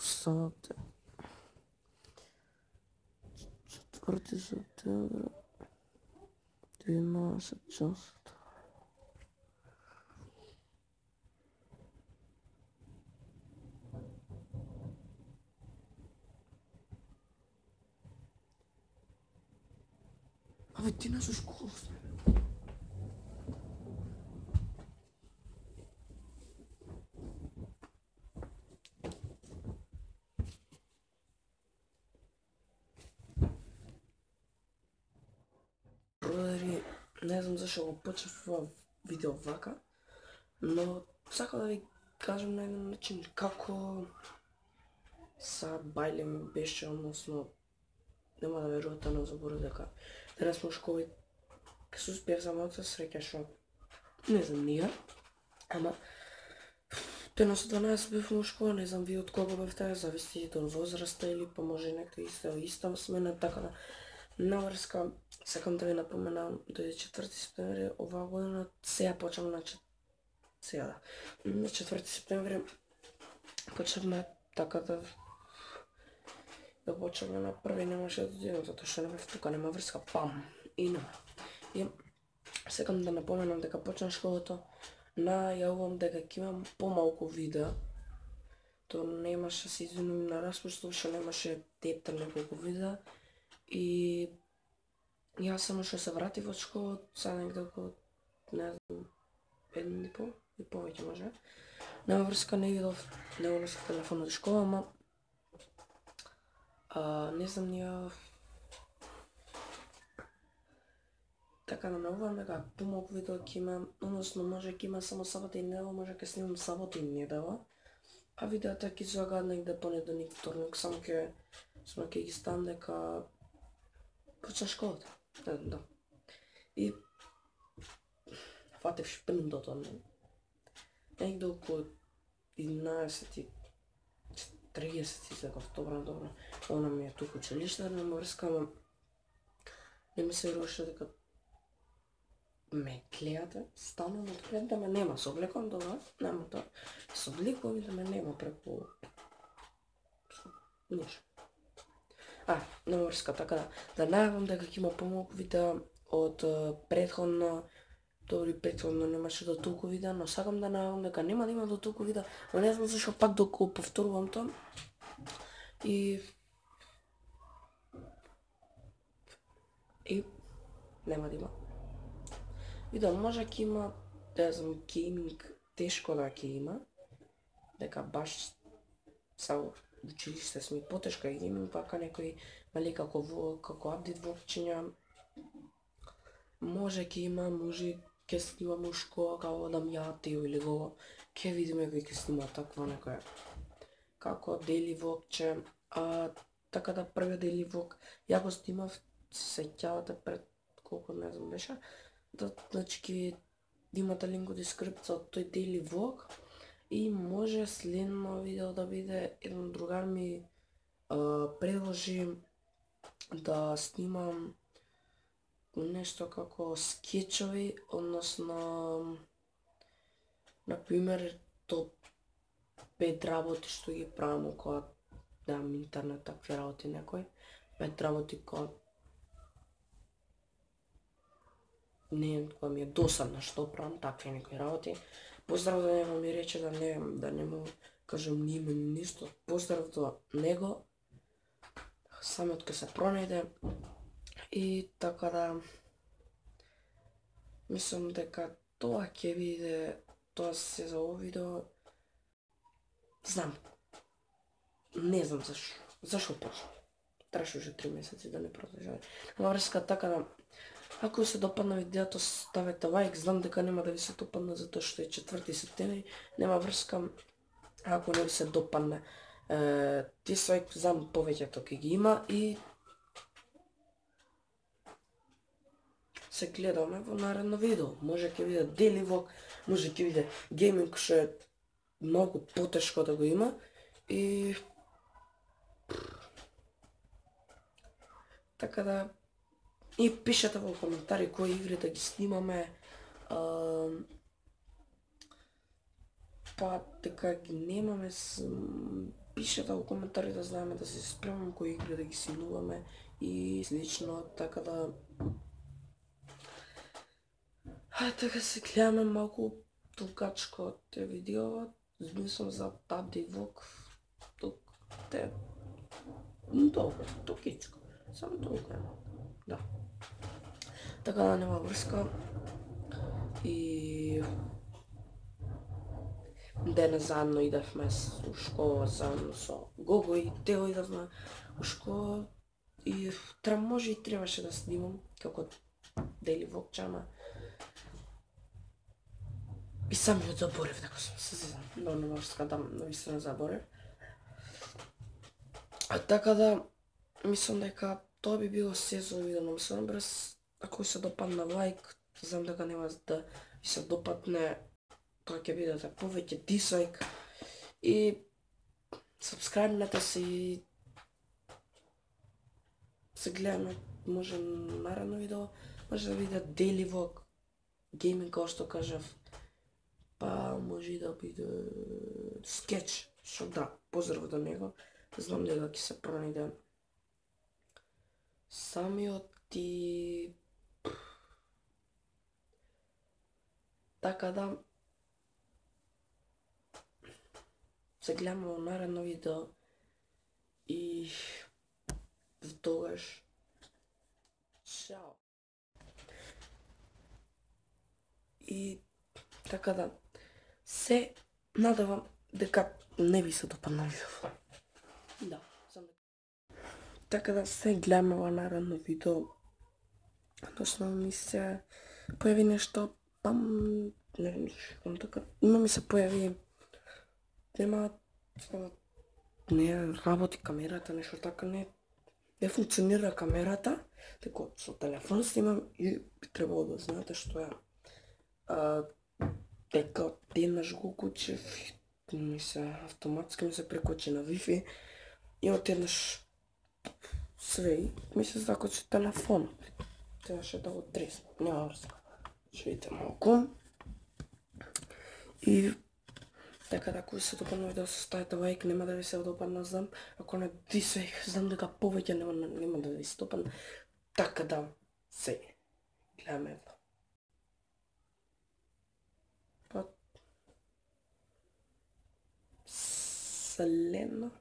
сабота. 4 септември, 12 часот. Абе, ти не со школа. Бродари, не знам зашо го почнав ова видео вака, но сакам да ви кажам на еден начин како са бајле ми беше, односно нема да верувате, но заборав дека денес во школа ке се успеав за мојата среќа што не знам ние, ама денес од 12 бев во школа, не знам ви од кога бевте, зависи од возраста или па може некој иста смена, така да наврска сакам да ви напоменам до 4 септември оваа година, сега почнам на 4 септември почнавме така да почнавме на први, немаше да додидам затоа што не бев тука, нема врска, пам, и нема. И сакам да напоменам дека почна школата, најавувам дека ќе имам помалку видеа, то немаше, се извинувам на распуштот, што немаше тептер неколку видеа, и јас само што се вратив од школа, сега негде околу, не знам, 1,5 и повеќе може. Нема врска, не видов, не унесов телефон од школа, ама не знам ние така да наувам дека помалку видео ќе имам, односно може ќе има само сабота и недела, може ќе снимам сабота и недела, а видеата ќе излегаат негде понеделник, вторник, само ќе ги ставам дека почна школата. Да. И фатев шприндото, негде околу 11:30 излегов, добро. Она ми е туку училиште, нема врска, ама не ми се веруваше дека ме гледате, станувам од пред да ме нема, се облекувам добро, нема тоа, се обликувам и да ме нема преку ништо. Нема врска, така да најавам дека ќе има помалку видеа од претходно, добри претходно немаше до толку видеа, но сакам да најавам дека нема да има до толку видеа, но не знам зашо пак доколку повторувам тоа. И нема да има. Видео може ќе има, да знам, гейминг, тешко да ќе има, дека баш са училиште сме потешко и гейминг, вака некои мали како апдейт вокчиња, може ќе има, може ќе снимам у школа како да мјатио или го, ќе видиме кој ќе снима таква некоја како дели вокче, така да првиот дели вок ја го снимав, се сеќавате пред колку не знам беше, значи ќе имате линк во дескрипцијата тој дели влог и може следно видео да биде еден другар ми предложи да снимам нешто како скечови, односно например топ 5 работи што ги правам кога немам интернет, такви работи некои, 5 работи кога ми е досадно што правам, такви некои работи. Поздрав до него, ми рече да не му кажам ни име ни ништо. Поздрав до него, самиот ке се пронајде и така да мислам дека тоа ќе биде тоа се за ово видео. Знам. Не знам зашо почна. Траше уже 3 месеци да не продолжава. Нема врска, така да ако се допадна видеото, ставете лайк, знам дека нема да ви се допадне затоа што е 4 септември, нема врска, ако не ви се допадне, дислайк, знам повеќето ќе ги има и се гледаме во наредно видео. Може ќе биде дели влог, може ќе биде гейминг што е многу потешко да го има и така да и пишете во коментари кои игри да ги снимаме, па дека ги немаме пишете во коментари да знаеме да се спремаме кои игри да ги симнуваме и слично, така да така се гледаме малку толкачко те видео, мислам за тати влог, тук те долго, толкичко, само толку е, да. Така да нема врска и денес заедно идевме у школа заедно со Гого и Тео идевме у школа и може и требаше да снимам како дели влогчама. И самиот заборев дека сум се зезам, но не може скатам, навистина заборев. Така да, мислам дека тоа би било се за видео на мислам брз. Ако се допадна лайк, знам дека нема да ви се допадне, тоа ќе бидете повеќе дизлайк и сабскрајбнете се и се гледаме, може наредно видео, може да биде дели влог, гейминг како што кажав, па може и да биде скетч, што да, поздрав до него, знам дека ќе се пронајде самиот и така да се гледаме во наредно видео и тогаш чао. И така да се надевам дека не ви се допадна видео. Да, така да се гледаме во наредно видео. Односно ми се појави нешто, не знам така, има ми се појави, не работи камерата, нешто така, не функционира камерата, така со телефон снимам и би требало да знаете што е, дека денеш го кучев, автоматски ми се прекочи на Wi-Fi и одеднаш све, ми се закочи телефон. Трябваше да го треснам, нема врска. Ще видите малку. И така да, ако ви се допадна видео, ставите лайк, нема да ви се допадна, знам. Ако не дизлайк, знам дека повеќе нема да ви се допадна. Така да, се гледаме едно. Па, следно.